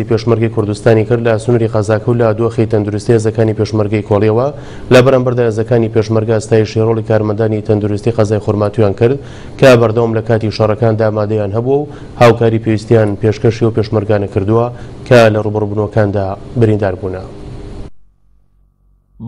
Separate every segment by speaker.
Speaker 1: پێشمەرگەی کوردستانی کرد لە سنووری قەزاکە و لە دۆخی تەندروستی هێزەکانی پێشمەرگەی کۆڵیەوە. لە بەرامبەردا هێزەکانی پێشمەرگە ستایشی ڕۆڵی کارمەندانی تەندروستی قەزای خورماتوویان کرد کە بەردەوام لە کاتی شەڕەکاندا ئامادەیان هەبووە و هاوکاری پێویستیان پێشکەشی ئەو پێشمەرگانە کردووە کە لە ڕووبەڕووبوونەوەکاندا بریندار بوونە.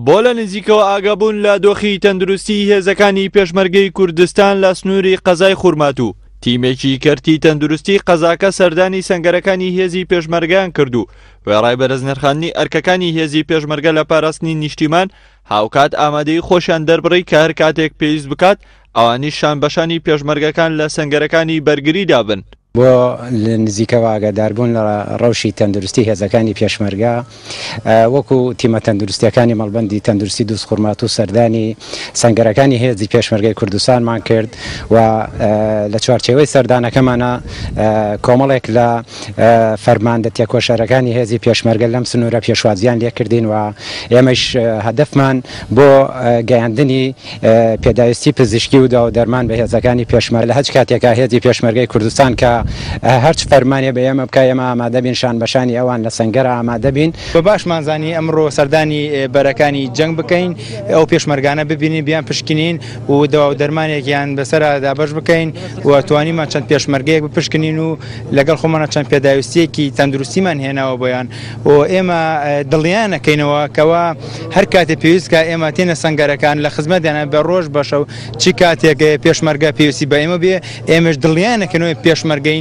Speaker 2: بۆ لە نزیکەوە ئاگابوون لە دۆخی تەندروستیی هێزەکانی پێشمەرگەی کوردستان لە سنووری قەزای خورماتوو، تیمێکی کەرتی تەندروستی قەزاکە سەردانی سەنگەرەکانی هێزی پێشمەرگەیان کرد و وێڕای بەرزنرخاندنی ئەرکەکانی هێزی پێشمەرگە لە پاراستنی نیشتیمان، هاوکات ئامادەیی خۆشیان دەربڕی کە هەر کاتێک پێویست بکات ئەوانیش شانبەشانی پێشمەرگەکان لە سەنگەرەکانی بەرگریدا بن.
Speaker 3: بۆ لە نزیکەوە ئاگاداربوون لە ڕەوشی تەندروستی هێزەکانی پێشمەرگە، وەکو تیمە تەندروستیەکانی مەڵبەندی تەندروستی دووزخورماتوو سەردانی سەنگەرەکانی هێزی پێشمەرگەی کوردستانمان کرد و لە چوارچێوەی سەردانەکەمانە کۆمەڵێک لە فەرماندە تێکۆشەرەکانی هێزی پێشمەرگە لەم سنوورە پێشوازیان لێکردین و ئێمەش هەدەفمان بۆ گەیاندنی پێداویستی پزیشکی و داو دەرمان بە هێزەکانی پێشمەرگە لە هەچ کاتێکا هێزی پێشمەرگەی کوردستان کە هەرچ فەرمانێ بە ئێمە بکا ئێمە ئامادە بین شان بە شانی ئەوان لە سەنگەرا ئامادە بین.
Speaker 4: بە باشمان زانی ئەمڕۆ سەردانی بەرەکانی جەنگ بکەین، ئەو پێشمەرگانە ببینین، بیان پشکنین و دەوا و دەرمانێکیان بەسەرا دابەش بکەین و توانیمان چەند پێشمەرگەیەک بپشکنین و لەگەڵ خۆمانە چەند پێداویستیەکی تەندروستیمان هێناوە بۆیان و ئێمە دڵنیایان ئەکەینەوە کەوا هەر کاتێ پێویست کا ئێمە تێنە سەنگەرەکان لە خزمەتیانە بە ڕۆژ بە شەو چ کاتێک پێشمەرگە پێویستی بە ئێمە بێ ئێمەش دڵنیایان ئەکەینەوە پێشمەرگەین.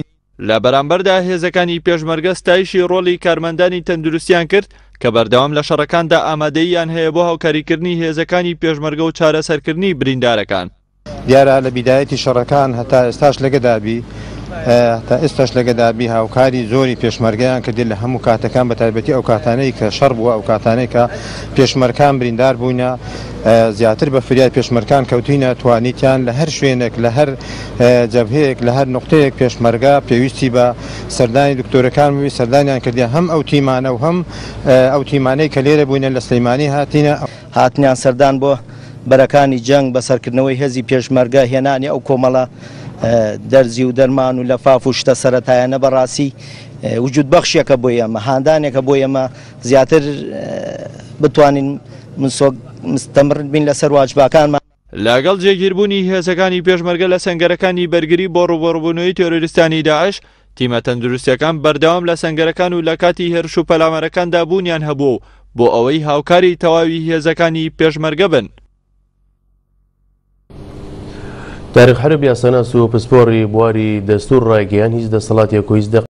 Speaker 2: لە بەرامبەردا هێزەکانی پێشمەرگە ستایشی ڕۆڵی کارمەندانی تەندروستیان کرد کە بەردەوام لە شەڕەکاندا ئامادەییان هەیە بۆ هاوکاریکردنی هێزەکانی پێشمەرگە و چارەسەرکردنی بریندارەکان.
Speaker 5: دیارە لە بیدایەتی شەڕەکان هەتا ئێستاش لەگەدابی هەتا ئێستاش لەگەدابی هاوکاری زۆری پێشمەرگەیان کردی لە هەموو کاتەکان بە تایبەتی ئەو کاتانەی کە شەڕ بووە ئەو کاتانەی کە پێشمەرکان بریندار بووینە زیاتر بە فریای پێشمەرکان کەوتینە توانیتیان لە هەر شوێنێک لە هەر جەبهەیەک لە هەر نقطەیەک پێشمەرگە پێویستی بە سەردانی دکتۆرەکان بووی سەردانیان کردی هەم ئەو تیمانە و هەم ئەو تیمانەی کە لێرە بووینە لە سلەیمانی هاتینە.
Speaker 6: هاتنیان سەردان بۆ بەرەکانی جەنگ، بەسەرکردنەوەی هێزی پێشمەرگە، هێنانی ئەو کۆمەڵە دەرزی و دەرمان و لەفاف و شتە سەرەتایانە بەڕاستی وجود بەخشێکە بۆ ئێمە، هاندانێکە بۆ ئێمە زیاتر بتوانین مستەمر بین لەسەر واجباکانمان.
Speaker 2: لەگەڵ جێگیربوونی هێزەکانی پێشمەرگە لە سەنگەرەکانی بەرگری بۆ ڕووبەڕووبوونەوەی تێرۆریستانی داعش، تیمە تەندروستییەکان بەردەوام لە سەنگەرەکان و لە کاتی هێرش و پەلامارەکاندا بوونیان هەبووە و بۆ ئەوەی هاوکاری تەواوی هێزەکانی پێشمەرگە بن.
Speaker 1: تاریق حەرب یاساناس و پسپۆڕی بواری دەستوور ڕایگەیاند، هیچ دەسەڵاتێک و هیچ دەقێک.